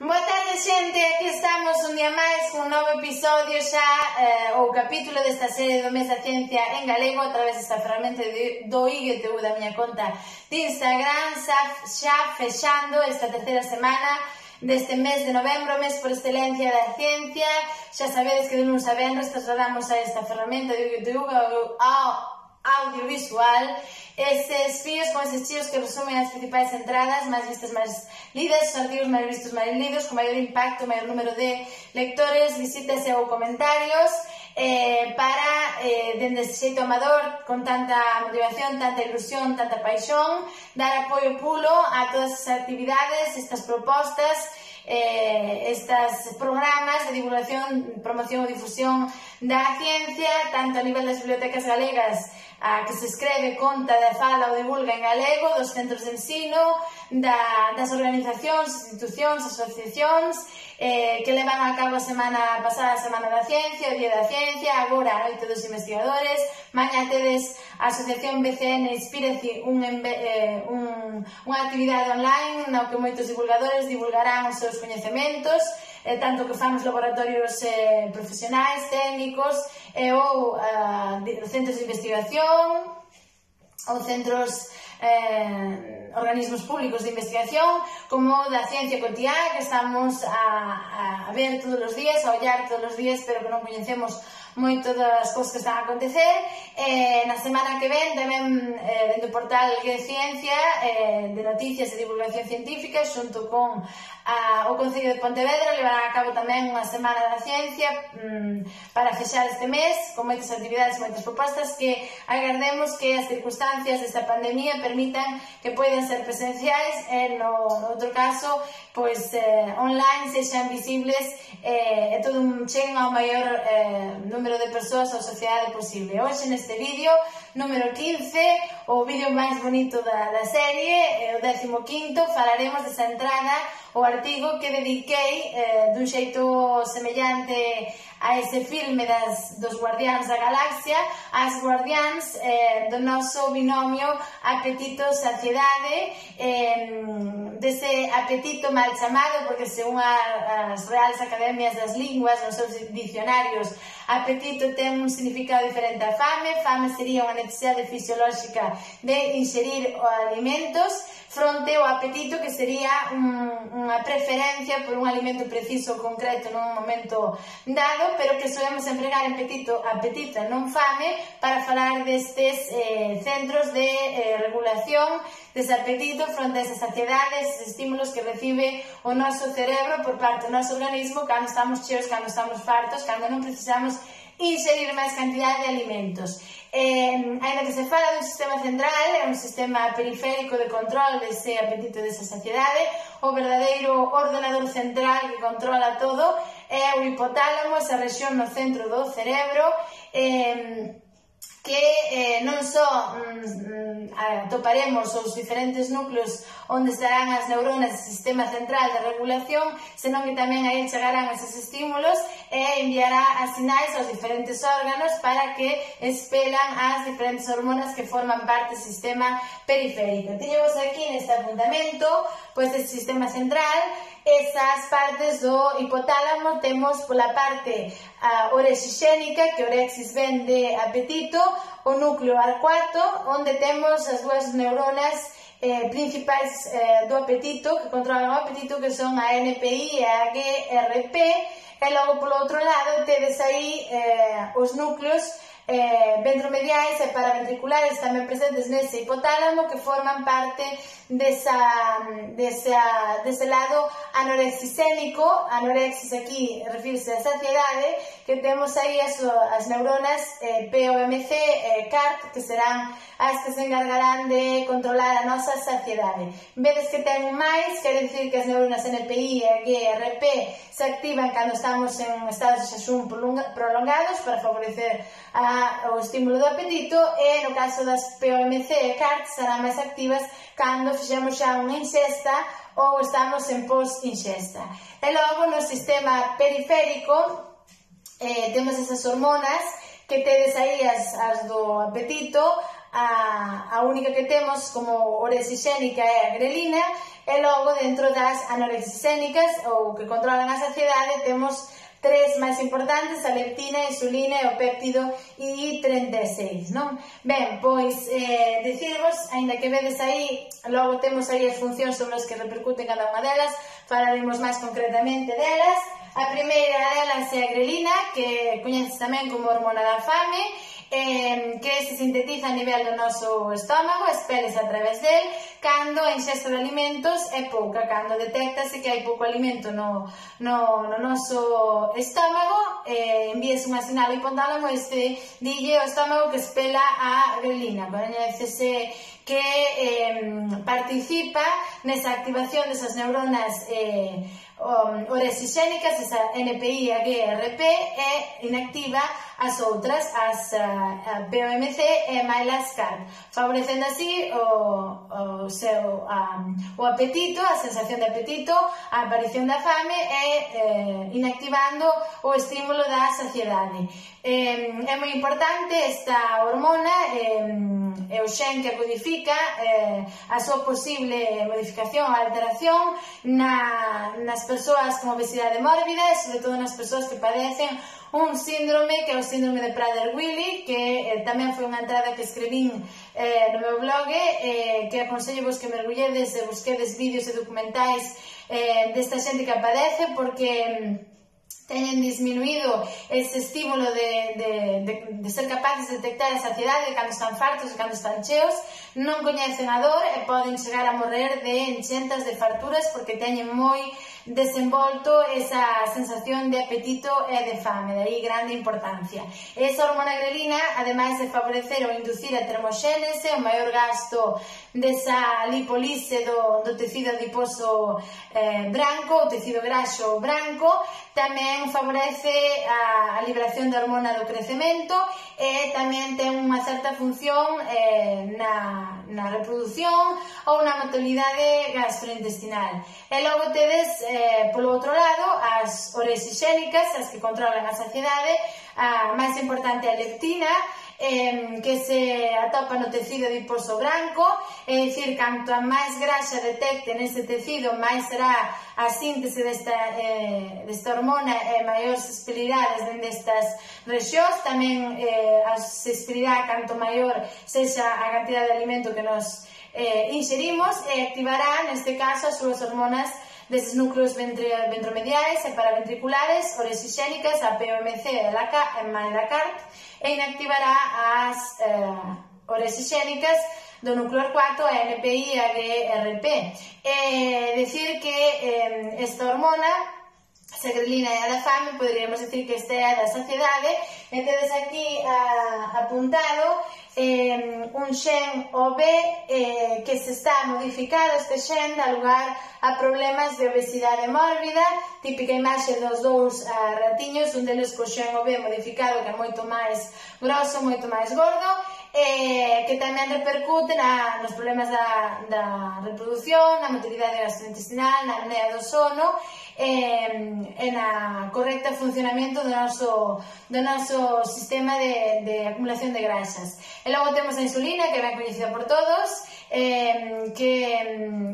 Boa tarde, xente, aquí estamos un día máis con un novo episodio xa, o capítulo desta serie do mes da ciencia en galego a través desta ferramenta do IGTV da miña conta de Instagram, xa fexando esta terceira semana deste mes de novembro, mes por excelencia da ciencia. Xa sabedes que de luns a venres trasladamos a esta ferramenta de IGTV ao audiovisual eses fíos con eses chíos que resumen as principais entradas máis vistas, máis lidas, os artigos máis vistos, máis lidos, con maior impacto, maior número de lectores, visitas ou comentarios, para, dende ese xeito amador, con tanta motivación, tanta ilusión, tanta paixón, dar apoio pulo a todas as actividades, estas propostas, estos programas de divulgación, promoción ou difusión da ciencia, tanto a nivel das bibliotecas galegas, que se escreve, conta, fala ou divulga en galego, dos centros de ensino, das organizacións, institucións, asociacións, que levan a cabo a semana pasada, a Semana da Ciencia, o Día da Ciencia, agora a Noite dos Investigadores, mañá tedes a Asociación BCN Inspírate, unha actividade online na que moitos divulgadores divulgarán os seus coñecementos, tanto que fan os laboratorios profesionais, técnicos, ou centros de investigación, ou centros organismos públicos de investigación, como da ciencia cotiá, que estamos a ver todos os días, a ollar todos os días, pero que non coñecemos moito das cousas que están a acontecer. Na semana que ven tamén dentro do portal Ciencia de noticias e divulgación científica, xunto con o Concello de Pontevedra, levarán a cabo tamén unha Semana da Ciencia para fechar este mes, con moitas actividades, moitas propostas que agardemos que as circunstancias desta pandemia permitan que poden ser presenciais e no outro caso pois online sexan visibles e todo cheguen ao maior número de persoas ou sociedade posible. Hoxe neste vídeo número 15, o vídeo máis bonito da serie, o 15º, falaremos desa entrada, o artigo que dediquei dun xeito semellante a ese filme dos Guardiáns da Galaxia, as guardiáns do noso binomio apetito-saciedade, dese apetito mal chamado, porque según as Reales Academias das Linguas, nos seus dicionarios, apetito ten un significado diferente a fame. Fame sería unha necesidade fisiolóxica de inxerir alimentos, fronte ao apetito, que sería unha preferencia por un alimento preciso, concreto, nun momento dado, pero que solemos empregar apetito, non fame, para falar destes centros de regulación dese apetito fronte a esas saciedades, esos estímulos que recibe o noso cerebro por parte do noso organismo cando estamos cheos, cando estamos fartos, cando non precisamos inserir máis cantidade de alimentos. Ainda que se fala dun sistema central, é un sistema periférico de control dese apetito e desa saciedade, o verdadeiro ordenador central que controla todo é o hipotálamo, esa rexión no centro do cerebro, que non só atoparemos os diferentes núcleos onde estarán as neuronas do sistema central de regulación, senón que tamén aí chegarán esos estímulos e enviará as sinais aos diferentes órganos para que expelan as diferentes hormonas que forman parte do sistema periférico. Teñemos aquí neste apuntamento pois deste sistema central. Esas partes do hipotálamo temos pola parte orexigénica, que orexis ven de apetito, o núcleo arcuato, onde temos as dúas neuronas principais do apetito, que controlan o apetito, que son a NPI e a GRP, e logo polo outro lado tedes aí os núcleos ventromediais e paraventriculares tamén presentes nese hipotálamo, que forman parte dese lado anorexicénico. Anorexis aquí refírese a saciedade, que temos aí as neuronas POMC e CART, que serán as que se encargarán de controlar a nosa saciedade. Vedes que ten máis, quere dicir que as neuronas NPI e GRP se activan cando estamos en estados de xaxún prolongados para favorecer o estímulo do apetito, e no caso das POMC e CART serán máis activas cando fixemos xa unha ingesta ou estamos en post-ingesta. E logo no sistema periférico temos esas hormonas que tedes aí, as do apetito, a única que temos como orexigénica é a grelina, e logo dentro das anorexigénicas ou que controlan a saciedade temos tres máis importantes, a leptina, a insulina e o péptido I36, non? Ben, pois, dicirvos, ainda que vedes aí, logo temos aí as funcións sobre as que repercuten cada unha delas, falaremos máis concretamente delas. A primeira delas é a grelina, que coñeces tamén como hormona da fame, que se sintetiza a nivel do noso estómago, espélese a través del, cando a ingesta de alimentos é pouca, cando detectase que hai pouco alimento no noso estómago, envíese unha sinal ao hipotálamo e este dille ao estómago que espela a grelina, coñecese que participa nesa activación desas neuronas orexigénicas, esa NPI, a GRP, e inactiva as outras, as POMC e máis CARP, favorecendo así o apetito, a sensación de apetito, a aparición da fame e inactivando o estímulo da saciedade. É moi importante esta hormona, é o xen que codifica a súa posible modificación ou alteración nas persoas con obesidade mórbida e sobre todo nas persoas que padecen un síndrome que é o síndrome de Prader-Willi, que tamén foi unha entrada que escribín no meu blog, que aconsello vos que mergulledes e busquedes vídeos e documentais desta xente que padece, porque teñen disminuído ese estímulo de ser capaces de detectar a saciedade cando están fartos e cando están cheos, non coñecen a dor e poden chegar a morrer de enxentas de farturas porque teñen moi desenvolto esa sensación de apetito e de fame, de aí grande importancia. Esa hormona grelina, ademais de favorecer ou inducir a termoxénese, o maior gasto desa lipólise do tecido adiposo branco, o tecido graxo branco, tamén favorece a liberación da hormona do crecemento e tamén ten unha certa función na reproducción ou na motilidade gastrointestinal. E logo tedes, polo outro lado, as orexigénicas, as que controlan a saciedade. A máis importante é a leptina, que se atopa no tecido adiposo branco, é dicir, canto a máis graxa detecte neste tecido, máis será a síntese desta hormona e maiores expelirades dende estas rexións. Tamén se expelirá canto maior sexa a cantidad de alimento que nos inxerimos e activará, neste caso, as súas hormonas deses núcleos ventromediais e paraventriculares orexigénicas, a POMC e a CARP, e inactivará as orexigénicas do núcleo 4, a NPI e a GRP. Decir que esta hormona, a grelina e a da fame, poderíamos decir que esta é a da saciedade, e tedes aquí apuntado un xen OB que se está modificado. Este xen dá lugar a problemas de obesidade mórbida, típica imaxe dos dous ratiños, un deles co xen OB modificado, que é moito máis grosso, moito máis gordo, que tamén repercute nos problemas da reproducción, na motilidade gastrointestinal, na apnea do sono e na correcta funcionamento do noso sistema de acumulación de grasas. E logo temos a insulina, que é ben coñecida por todos, que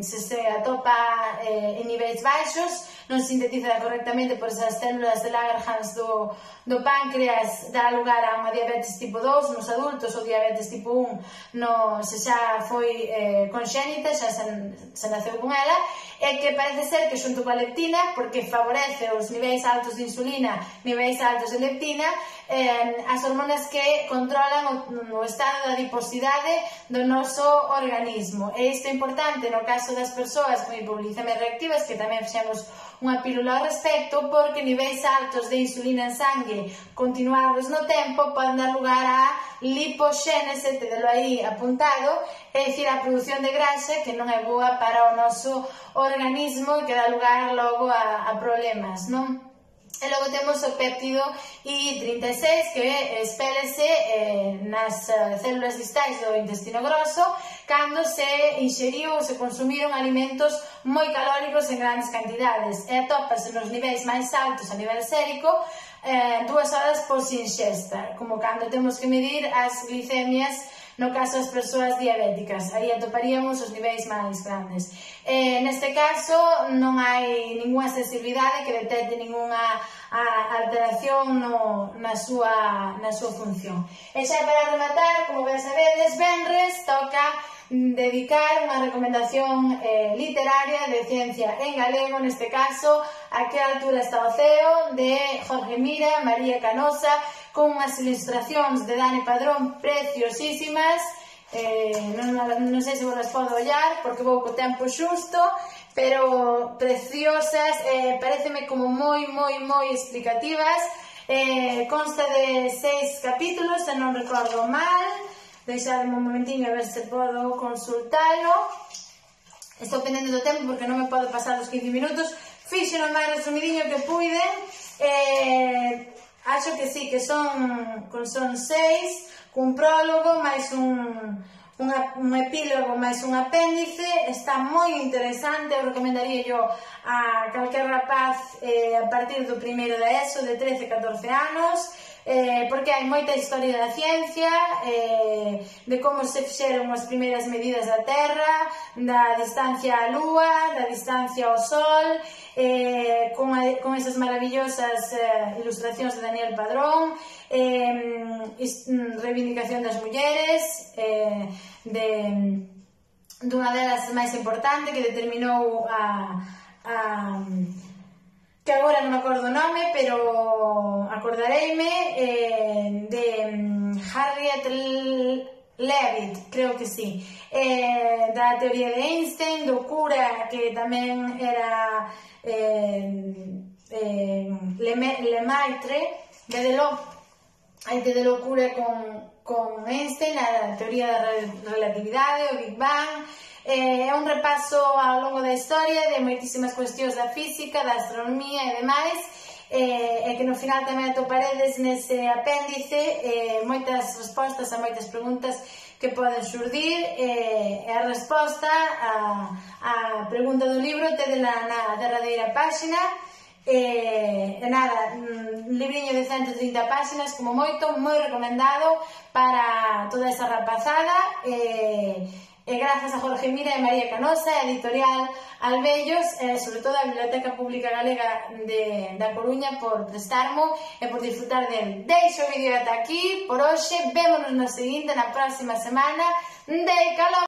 se atopa en niveis baixos, non se sintetiza correctamente por esas células de Langerhans do páncreas, dá lugar a unha diabetes tipo 2 nos adultos ou diabetes tipo 1 se xa foi conxénita, xa se naceu con ela, e que parece ser que xunto coa leptina, porque favorece os niveis altos de insulina, niveis altos de leptina, as hormonas que controlan o estado de adiposidade do noso organismo. E isto é importante no caso das persoas con hipoglicemia reactivas, que tamén fixemos unha pílula ao respecto, porque niveis altos de insulina en sangue continuados no tempo poden dar lugar a lipoxénese, tedelo aí apuntado, é dicir, a produción de grasa que non é boa para o noso organismo e que dá lugar logo a problemas, non? E logo temos o péptido I36, que espélese nas células distais do intestino grosso cando se inxeriu ou se consumiron alimentos moi calóricos en grandes cantidades, e atópase nos niveis máis altos a nivel sérico 2 horas pos ingesta, como cando temos que medir as glicemias no caso das persoas diabéticas, aí atoparíamos os niveis máis grandes. Neste caso non hai ninguna sensibilidade que detecte ninguna alteración na súa función. E xa para rematar, como ben sabedes, venres toca dedicar unha recomendación literaria de ciencia en galego, neste caso, A que altura está o ceo, de Jorge Mira, María Canosa, con unhas ilustracións de Dani Padrón preciosísimas. Non sei se vos las podo ollar porque vou co tempo xusto, pero preciosas, pareceme como moi explicativas. Consta de 6 capítulos, se non recordo mal. Deixadme un momentiño a ver se podo consultalo. Estou pendente do tempo porque non me podo pasar os 15 minutos. Fixo o máis resumidinho que puiden. Acho que sí, que son 6, cun prólogo, máis un epílogo, máis un apéndice. Está moi interesante, eu recomendaría yo a calquer rapaz a partir do primeiro da ESO, de 13-14 anos, porque hai moita historia da ciencia, de como se fixeron as primeiras medidas da Terra, da distancia á Lúa, da distancia ao Sol, con esas maravillosas ilustracións de Daniel Padrón, reivindicación das mulleres, dunha delas máis importante que determinou que agora non me acordo o nome, pero acordareime, de Harriet Leavitt, creo que sí, da teoría de Einstein, do cura que tamén era Lemaitre, hai de locura con Einstein, a teoría da relatividade, o Big Bang. É un repaso ao longo da historia de moitísimas cuestións da física, da astronomía e demais, e que no final tamén atoparedes nese apéndice moitas respostas a moitas preguntas que poden xurdir, e a resposta a pregunta do libro tedela na derradeira páxina. Nada, un libriño de 130 páxinas como moito, moi recomendado para toda esa rapazada, e grazas a Jorge Mira e María Canosa, editorial Albellos, e sobre todo a Biblioteca Pública Galega da Coruña, por prestarmo e por disfrutar del. Deixo o vídeo ata aquí por hoxe, vémonos no seguinte, na próxima semana. Dei calor!